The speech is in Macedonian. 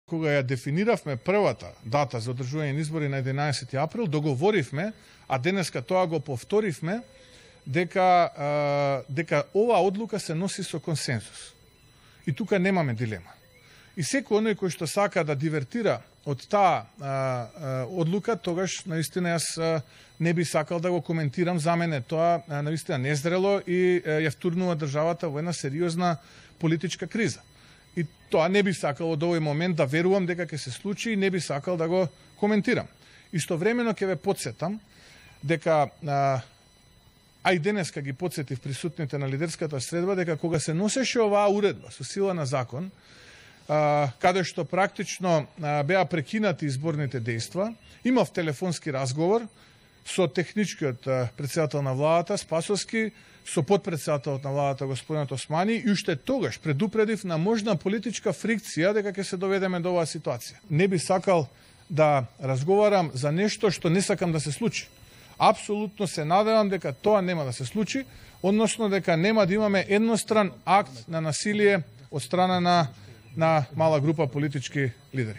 Кога ја дефиниравме првата дата за одржување на избори на 11 април, договоривме, а денеска тоа го повторивме, дека оваа одлука се носи со консенсус. И тука немаме дилема. И секој оној кој што сака да дивертира од таа одлука, тогаш наистина јас не би сакал да го коментирам. За мене тоа наистина незрело и ја втурнува државата во една сериозна политичка криза. И тоа не би сакал од овој момент да верувам дека ќе се случи и не би сакал да го коментирам. Истовремено ќе ве потсетам дека а и денеска ги потсетив присутните на лидерската средба дека кога се носеше оваа уредба со сила на закон, каде што практично беа прекинати изборните дејства, имав телефонски разговор со техничкиот председател на владата Спасовски, со подпредседателот на владата господинот Османи, и уште тогаш предупредив на можна политичка фрикција дека ќе се доведеме до оваа ситуација. Не би сакал да разговарам за нешто што не сакам да се случи. Апсолутно се надевам дека тоа нема да се случи, односно дека нема да имаме едностран акт на насилие од страна на мала група политички лидери.